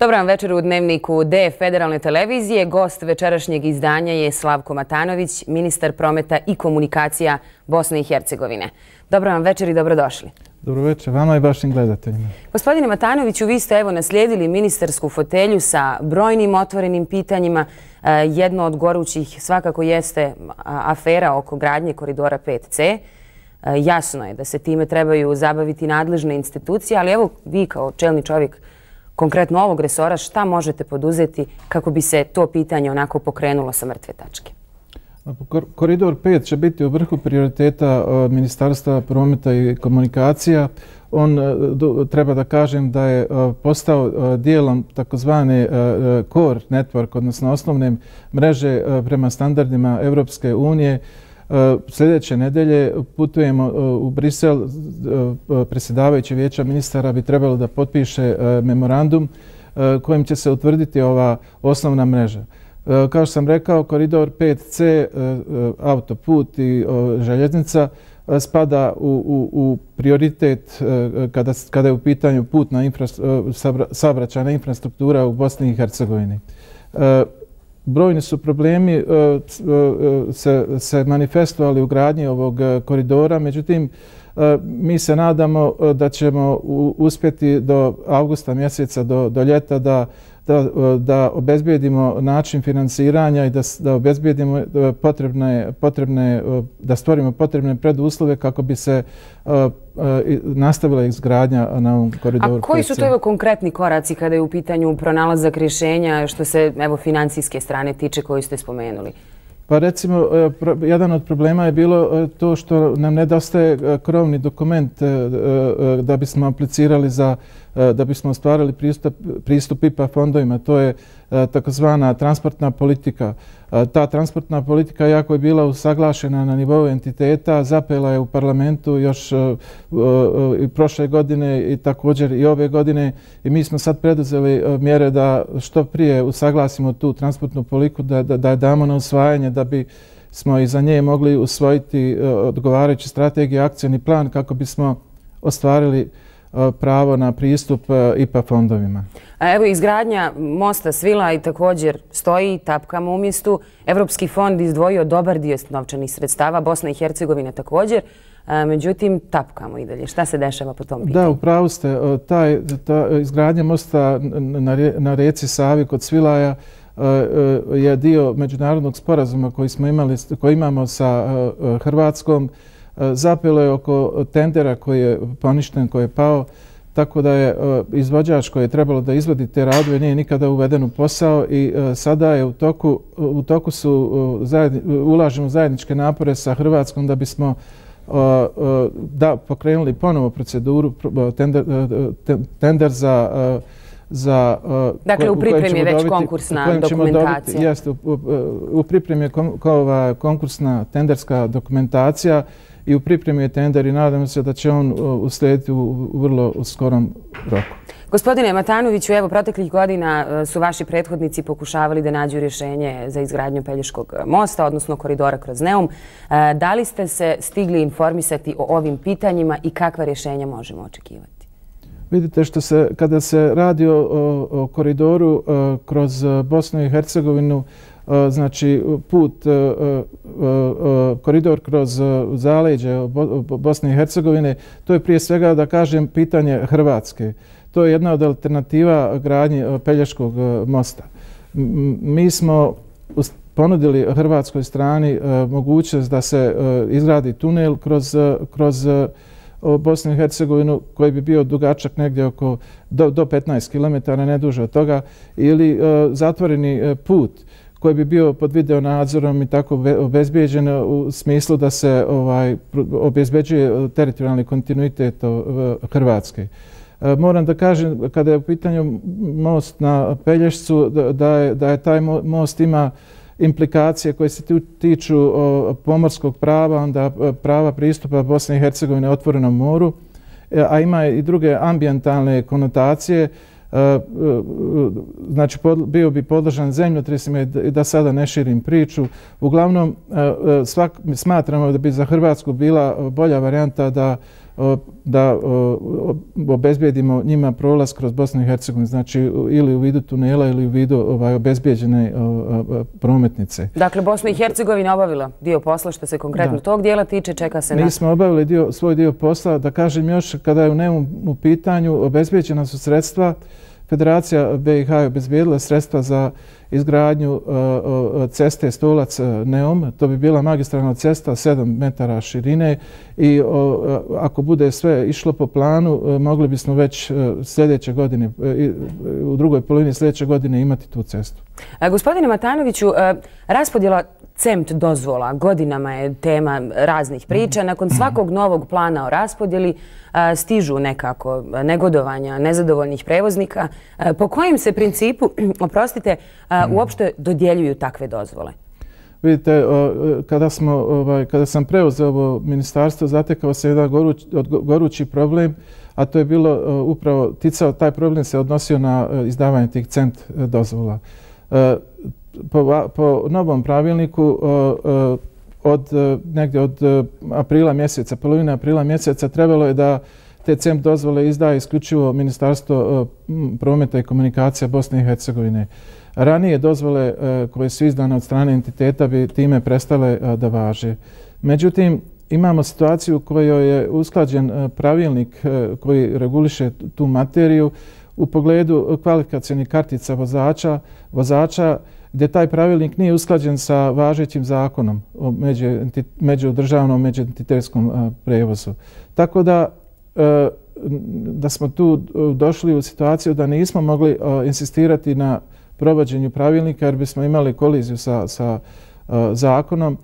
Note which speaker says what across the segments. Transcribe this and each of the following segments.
Speaker 1: Dobar vam večer u Dnevniku D Federalne televizije. Gost večerašnjeg izdanja je Slavko Matanović, ministar prometa i komunikacija Bosne i Hercegovine. Dobar vam večer i dobrodošli.
Speaker 2: Dobro večer vama i vašim gledateljima.
Speaker 1: Gospodine Matanoviću, vi ste naslijedili ministarsku fotelju sa brojnim otvorenim pitanjima. Jedno od gorućih svakako jeste afera oko gradnje koridora 5C. Jasno je da se time trebaju zabaviti nadležne institucije, ali evo vi kao čelni čovjek konkretno ovog resora, šta možete poduzeti kako bi se to pitanje onako pokrenulo sa mrtve tačke?
Speaker 2: Koridor 5 će biti u vrhu prioriteta Ministarstva prometa i komunikacija. On, treba da kažem, da je postao dijelom takozvane core network, odnosno osnovne mreže prema standardima Europske unije. Sljedeće nedelje putujemo u Brisel. Predsjedavajući Vijeća ministara bi trebalo da potpiše memorandum kojim će se utvrditi ova osnovna mreža. Kao što sam rekao, koridor 5C, autoput i željeznica spada u prioritet kada je u pitanju saobraćajna infrastruktura u Bosni i Hercegovini. Brojni su problemi se manifestovali u gradnji ovog koridora, međutim mi se nadamo da ćemo uspjeti do avgusta mjeseca, do ljeta, da obezbijedimo način finansiranja i da obezbijedimo da stvorimo potrebne preduslove kako bi se nastavila izgradnja na ovom koridoru.
Speaker 1: A koji su to konkretni koraci kada je u pitanju pronalazak rješenja što se financijske strane tiče koju ste spomenuli?
Speaker 2: Pa recimo, jedan od problema je bilo to što nam nedostaje krovni dokument da bismo aplicirali da bismo ostvarili pristup IPA fondovima. To je takozvana transportna politika. Ta transportna politika, jako je bila usaglašena na nivou entiteta, zapela je u parlamentu još i prošle godine i također i ove godine i mi smo sad preduzeli mjere da što prije usaglasimo tu transportnu politiku, da je damo na usvajanje da bi smo iza nje mogli usvojiti odgovarajući strategiju i akcioni plan kako bismo ostvarili pravo na pristup IPA fondovima.
Speaker 1: Evo, izgradnja mosta Svila i također stoji, tapkamo u mjestu. Evropski fond izdvojio dobar dio novčanih sredstava, Bosna i Hercegovina također, međutim tapkamo i dalje. Šta se dešava po tom pitanju?
Speaker 2: Da, upravo ste. Ta izgradnja mosta na rijeci Savi kod Svilaja je dio međunarodnog sporazuma koji imamo sa Hrvatskom. Zapelo je oko tendera koji je poništen, koji je pao, tako da je izvođač koji je trebalo da izvodi te radove nije nikada uveden u posao i sada je u toku ulažemo zajedničke napore sa Hrvatskom da bismo pokrenuli ponovo proceduru, tender za
Speaker 1: dakle, u pripremi je već konkursna dokumentacija.
Speaker 2: Jeste, u pripremi je konkursna tenderska dokumentacija i u pripremi je tender i nadamo se da će on uslijediti u vrlo skorom roku.
Speaker 1: Gospodine Matanoviću, evo, proteklih godina su vaši prethodnici pokušavali da nađu rješenje za izgradnju Pelješkog mosta, odnosno koridora kroz Neum. Da li ste se stigli informisati o ovim pitanjima i kakva rješenja možemo očekivati?
Speaker 2: Vidite, kada se radi o koridoru kroz Bosnu i Hercegovinu, znači koridor kroz zaleđe Bosne i Hercegovine, to je prije svega, da kažem, pitanje Hrvatske. To je jedna od alternativa gradnji Pelješkog mosta. Mi smo ponudili hrvatskoj strani mogućnost da se izgradi tunel kroz Bosnu i Hercegovinu koji bi bio dugačak negdje oko do 15 km, ne duže od toga, ili zatvoreni put koji bi bio pod video nadzorom i tako obezbijeđen u smislu da se obezbeđuje teritorijalni kontinuitet Hrvatske. Moram da kažem, kada je u pitanju most na Pelješcu, da je taj most ima implikacije koje se tiču pomorskog prava, onda prava pristupa Bosne i Hercegovine otvorenom moru, a ima i druge ambijentalne konotacije. Znači, bio bi podložan zemljotresima i da sada ne širim priču. Uglavnom, smatramo da bi za Hrvatsku bila bolja varijanta da da obezbijedimo njima prolaz kroz Bosnu i Hercegovinu, znači ili u vidu tunela ili u vidu obezbijeđene prometnice.
Speaker 1: Dakle, Bosna i Hercegovina obavila dio posla što se konkretno tog dijela tiče, čeka se na...
Speaker 2: Mi smo obavili svoj dio posla, da kažem još, kada je u Neumu u pitanju, obezbijeđena su sredstva. Federacija BiH je obezbijedila sredstva za izgradnju ceste Stolac-Neum. To bi bila magistralna cesta 7 metara širine i ako bude sve išlo po planu, mogli bismo već sljedeće godine, u drugoj polovini sljedeće godine imati tu cestu.
Speaker 1: Gospodine Matanoviću, raspodjela CEMT dozvola godinama je tema raznih priča. Nakon svakog novog plana o raspodjeli stižu nekako negodovanja nezadovoljnih prevoznika. Po kojem se principu, oprostite, uopšte dodjeljuju takve dozvole?
Speaker 2: Vidite, kada sam preuzeo ovo ministarstvo, zatekao se jedan gorući problem, a to je bilo upravo taj problem se odnosio na izdavanje tih CEMT dozvola. Po novom pravilniku negdje od aprila mjeseca, polovine aprila mjeseca, trebalo je da te CEMT dozvole izdaje isključivo Ministarstvo prometa i komunikacija Bosne i Hercegovine. Ranije dozvole koje su izdane od strane entiteta bi time prestale da važe. Međutim, imamo situaciju u kojoj je usklađen pravilnik koji reguliše tu materiju u pogledu kvalifikacionih kartica vozača gdje taj pravilnik nije usklađen sa važećim zakonom o međudržavnom međuentitetskom prevozu. Tako da smo tu došli u situaciju da nismo mogli insistirati na provođenju pravilnika jer bismo imali koliziju sa zakonom.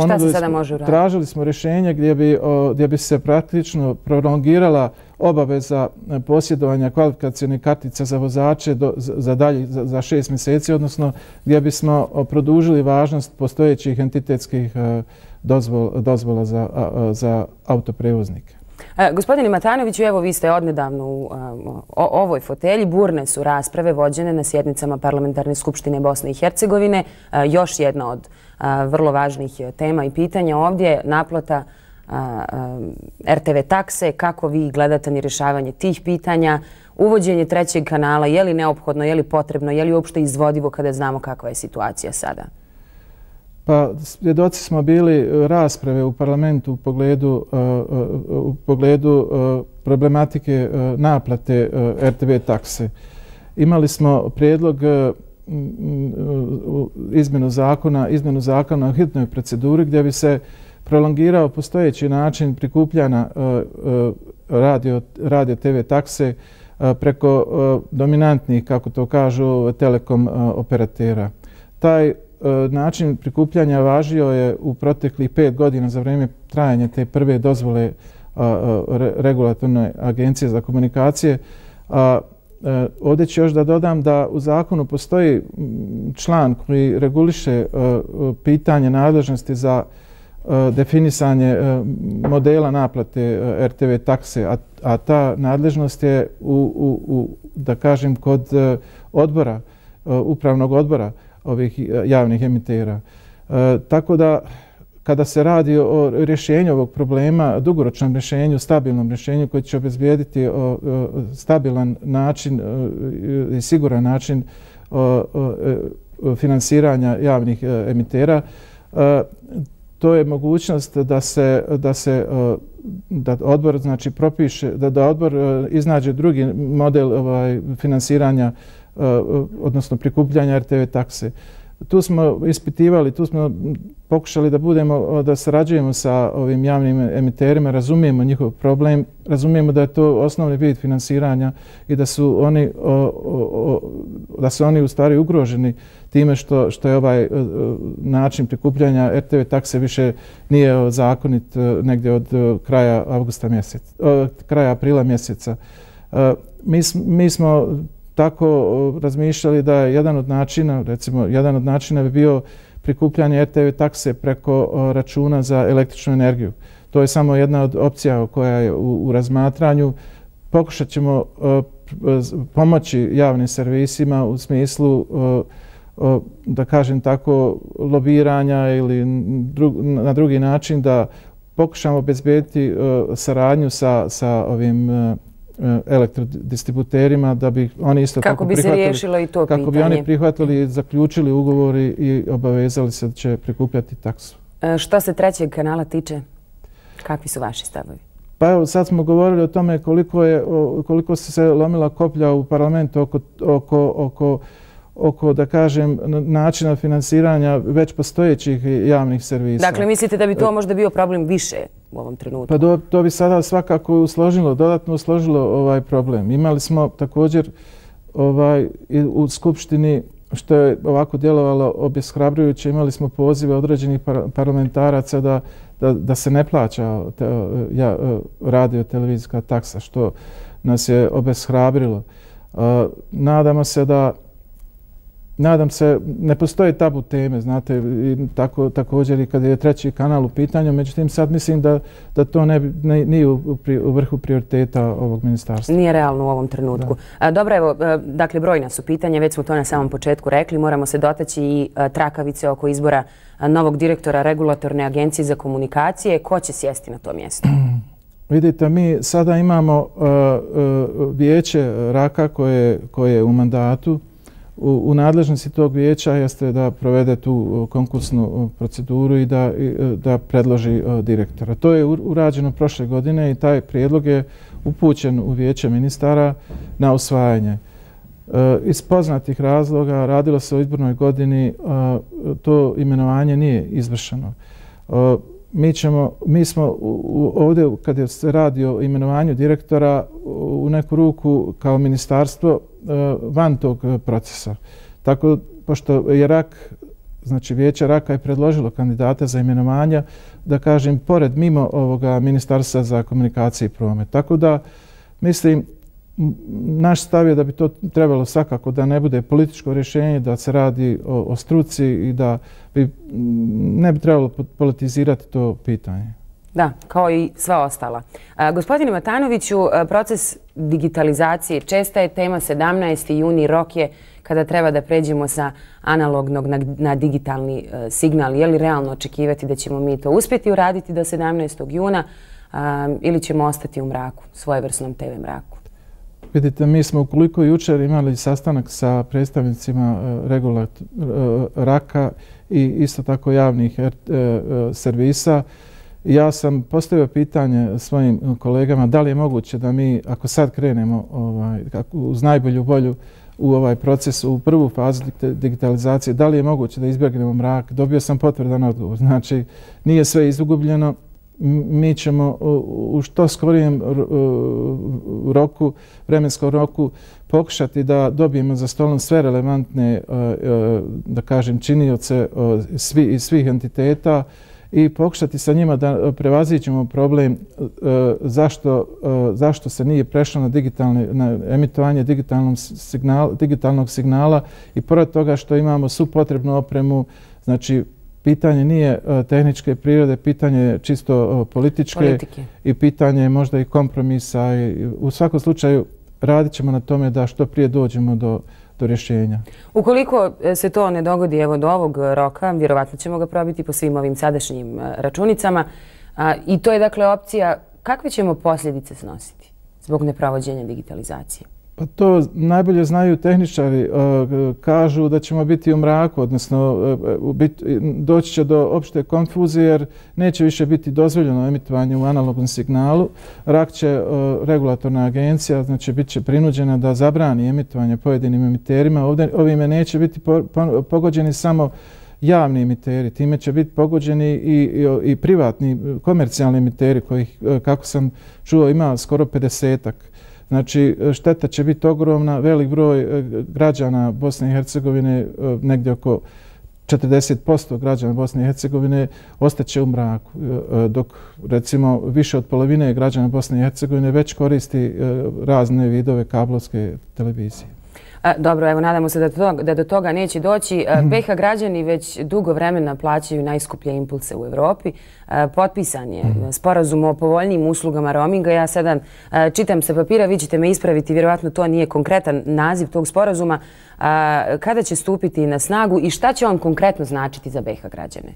Speaker 1: Šta se sada može uraditi?
Speaker 2: Tražili smo rješenje gdje bi se praktično prolongirala obaveza posjedovanja kvalifikacionih kartica za vozače za 6 mjeseci, odnosno gdje bismo produžili važnost postojećih entitetskih dozvola za autoprevoznike.
Speaker 1: Gospodine Matanoviću, evo vi ste odnedavno u ovoj fotelji. Burne su rasprave vođene na sjednicama Parlamentarne skupštine Bosne i Hercegovine. Još jedna od vrlo važnih tema i pitanja ovdje, naplata RTV takse. Kako vi gledate na rješavanje tih pitanja? Uvođenje trećeg kanala, je li neophodno, je li potrebno, je li uopšte izvodivo kada znamo kakva je situacija sada?
Speaker 2: Pa, svjedoci smo bili rasprave u parlamentu u pogledu problematike naplate RTV takse. Imali smo prijedlog izmjenu zakona o hitnoj proceduri gdje bi se prolongirao postojeći način prikupljanja radio TV takse preko dominantnih, kako to kažu, telekom operatera. Taj način prikupljanja važio je u proteklih 5 godina za vrijeme trajanja te prve dozvole regulatorne agencije za komunikacije. Ovdje ću još da dodam da u zakonu postoji član koji reguliše pitanje nadležnosti za definisanje modela naplate RTV takse, a ta nadležnost je da kažem, kod upravnog odbora ovih javnih emitera. Tako da kada se radi o rješenju ovog problema, dugoročnom rješenju, stabilnom rješenju koji će obezbijediti stabilan način i siguran način finansiranja javnih emitera, to je mogućnost da odbor znači propiše, da odbor iznađe drugi model finansiranja odnosno prikupljanja RTV takse. Tu smo ispitivali, tu smo pokušali da sarađujemo sa ovim javnim emiterima, razumijemo njihov problem, razumijemo da je to osnovni vid finansiranja i da su oni u stvari ugroženi time što je ovaj način prikupljanja RTV takse više nije zakonit negdje od kraja aprila mjeseca. Mi smo tako razmišljali da je jedan od načina bi bio prikupljanje RTV takse preko računa za električnu energiju. To je samo jedna od opcija koja je u razmatranju. Pokušat ćemo pomoći javnim servisima u smislu, da kažem tako, lobiranja ili na drugi način da pokušamo obezbediti saradnju sa ovim elektrodistributerima da bi oni isto tako prihvatili.
Speaker 1: Kako bi se riješilo i to pitanje.
Speaker 2: Kako bi oni prihvatili i zaključili ugovori i obavezali se da će prikupljati taksu.
Speaker 1: Što se trećeg kanala tiče, kakvi su vaši stavovi?
Speaker 2: Pa evo, sad smo govorili o tome koliko se lomila koplja u parlamentu oko, da kažem, načina finansiranja već postojećih javnih servisa.
Speaker 1: Dakle, mislite da bi to možda bio problem više u ovom trenutku?
Speaker 2: Pa to bi sada svakako dodatno usložilo ovaj problem. Imali smo također u Skupštini, što je ovako djelovalo obeshrabrujuće, imali smo pozive određenih parlamentaraca da se ne plaća radio-televizijska taksa, što nas je obeshrabrilo. Nadam se, ne postoje tabu teme, znate, također i kad je treći kanal u pitanju, međutim sad mislim da to nije u vrhu prioriteta ovog ministarstva.
Speaker 1: Nije realno u ovom trenutku. Dobro, evo, dakle, brojna su pitanja, već smo to na samom početku rekli, moramo se dotaći i trakavice oko izbora novog direktora Regulatorne agencije za komunikacije. Ko će sjesti na to mjesto?
Speaker 2: Vidite, mi sada imamo vijeće RAK-a koje je u mandatu. U nadležnosti tog vijeća jeste da provede tu konkursnu proceduru i da predloži direktora. To je urađeno prošle godine i taj prijedlog je upućen u vijeće ministara na usvajanje. Iz poznatih razloga radilo se o izbornoj godini, to imenovanje nije izvršeno. Mi smo ovdje, kad se radi o imenovanju direktora, u neku ruku kao ministarstvo van tog procesa. Tako, pošto je RAK, znači vijeće RAK-a je predložilo kandidata za imenovanja, da kažem, mimo ovoga ministarstva za komunikacije i promet. Tako da, mislim, naš stav je da bi to trebalo svakako da ne bude političko rješenje, da se radi o struci i da ne bi trebalo politizirati to pitanje.
Speaker 1: Da, kao i sva ostala. Gospodine Matanoviću, proces digitalizacije česta je tema. 17. juni rok je kada treba da pređemo sa analognog na digitalni signal. Je li realno očekivati da ćemo mi to uspjeti uraditi do 17. juna ili ćemo ostati u mraku, svojevrsnom TV mraku?
Speaker 2: Vidite, mi smo ukoliko jučer imali sastanak sa predstavnicima RAK-a i isto tako javnih servisa. Ja sam postavio pitanje svojim kolegama da li je moguće da mi, ako sad krenemo uz najbolju volju u ovaj proces, u prvu fazu digitalizacije, da li je moguće da izbjegnemo mrak. Dobio sam potvrdan odgovor. Znači, nije sve izgubljeno. Mi ćemo u što skorijem vremenskom roku pokušati da dobijemo za stolom sve relevantne, da kažem, činioce iz svih entiteta i pokušati sa njima da prevaziđemo problem zašto se nije prešlo na emitovanje digitalnog signala i pored toga što imamo svu potrebnu opremu, znači pitanje nije tehničke prirode, pitanje je čisto političke i pitanje je možda i kompromisa. U svakom slučaju radit ćemo na tome da što prije dođemo do rješenja.
Speaker 1: Ukoliko se to ne dogodi evo do ovog roka, vjerovatno ćemo ga probiti po svim ovim sadašnjim računicama. I to je dakle opcija. Kakve ćemo posljedice snositi zbog neprovođenja digitalizacije?
Speaker 2: Pa to najbolje znaju tehničari. Kažu da ćemo biti u mraku, odnosno doći će do opšte konfuzije jer neće više biti dozvoljeno emitovanje u analognom signalu. RAK će, regulatorna agencija, znači bit će prinuđena da zabrani emitovanje pojedinim emiterima. Ovime neće biti pogođeni samo javni emiteri, time će biti pogođeni i privatni, komercijalni emiteri kojih, kako sam čuo, ima skoro 50-ak. Znači, šteta će biti ogromna, velik broj građana Bosne i Hercegovine, negdje oko 40% građana Bosne i Hercegovine ostaće u mraku, dok recimo više od polovine građana Bosne i Hercegovine već koristi razne vidove kablovske televizije.
Speaker 1: Dobro, evo nadamo se da do toga neće doći. BiH građani već dugo vremena plaćaju najskuplje impulse u Evropi. Potpisan je sporazum o povoljnijim uslugama roaminga. Ja sada čitam sa papira, vi ćete me ispraviti, vjerovatno to nije konkretan naziv tog sporazuma. Kada će stupiti na snagu i šta će on konkretno značiti za BiH građane?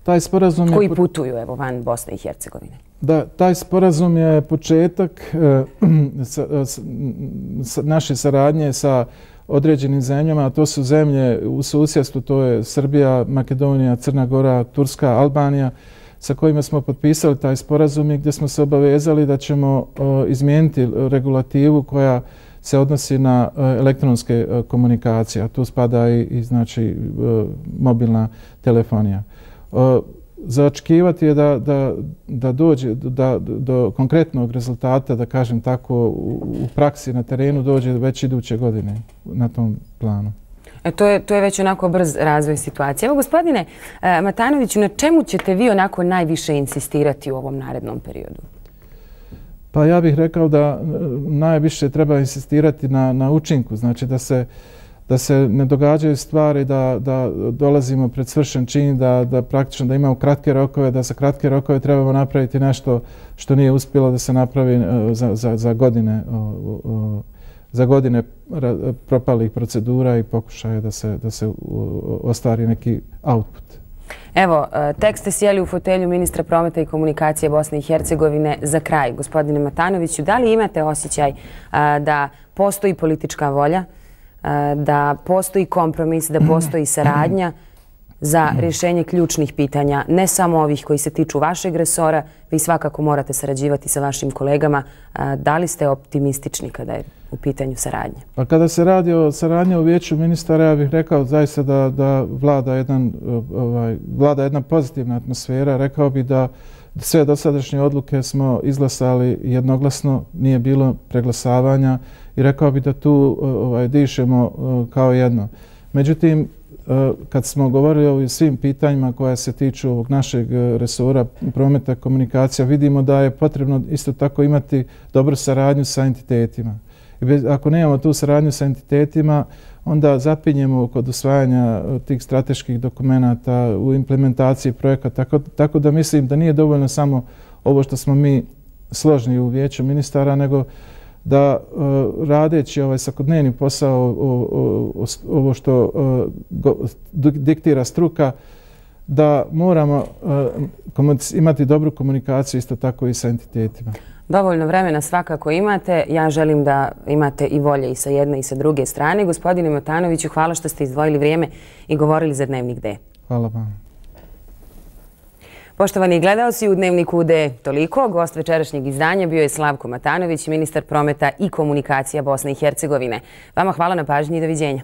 Speaker 2: Taj sporazum
Speaker 1: koji putuju van Bosne i Hercegovine.
Speaker 2: Da, taj sporazum je početak naše saradnje sa određenim zemljama, a to su zemlje u susjedstvu, to je Srbija, Makedonija, Crna Gora, Turska, Albanija, sa kojima smo potpisali taj sporazum i gdje smo se obavezali da ćemo izmijeniti regulativu koja se odnosi na elektronske komunikacije, a tu spada i znači mobilna telefonija. Za očekivati je da dođe do konkretnog rezultata, da kažem tako, u praksi na terenu dođe već iduće godine na tom planu.
Speaker 1: To je već onako brz razvoj situacije. Evo, gospodine Matanoviću, na čemu ćete vi onako najviše insistirati u ovom narednom periodu?
Speaker 2: Pa ja bih rekao da najviše treba insistirati na učinku, znači da se ne događaju stvari, da dolazimo pred svršen čin, da praktično da imamo kratke rokove, da za kratke rokove trebamo napraviti nešto što nije uspjelo da se napravi za godine propalih procedura i pokušaja da se ostvari neki output.
Speaker 1: Evo, tek ste sjeli u fotelju ministra prometa i komunikacije Bosne i Hercegovine. Za kraj, gospodine Matanoviću, da li imate osjećaj da postoji politička volja, da postoji kompromis, da postoji saradnja za rješenje ključnih pitanja, ne samo ovih koji se tiču vašeg resora, vi svakako morate sarađivati sa vašim kolegama. Da li ste optimistični kada je u pitanju saradnje?
Speaker 2: Pa kada se radi o saradnji u vijeću ministara, ja bih rekao zaista da vlada jedna pozitivna atmosfera. Rekao bih da sve dosadašnje odluke smo izglasali jednoglasno, nije bilo preglasavanja i rekao bih da tu dišemo kao jedno. Međutim, kad smo govorili o svim pitanjima koja se tiču ovog našeg resora prometa i komunikacija, vidimo da je potrebno isto tako imati dobru saradnju sa entitetima. Ako nemamo tu saradnju sa entitetima, onda zapinjemo kod usvajanja tih strateških dokumenata u implementaciji projekata. Tako da mislim da nije dovoljno samo ovo što smo mi složni u vijeću ministara, nego da radeći svakodnevni posao, ovo što diktira struka, da moramo imati dobru komunikaciju isto tako i sa entitetima.
Speaker 1: Dovoljno vremena svakako imate. Ja želim da imate i volje i sa jedne i sa druge strane. Gospodine Matanoviću, hvala što ste izdvojili vrijeme i govorili za Dnevnik D.
Speaker 2: Hvala vam.
Speaker 1: Poštovani gledaoci, u Dnevniku D toliko. Gost večerašnjeg izdanja bio je Slavko Matanović, ministar prometa i komunikacija Bosne i Hercegovine. Vama hvala na pažnji i doviđenja.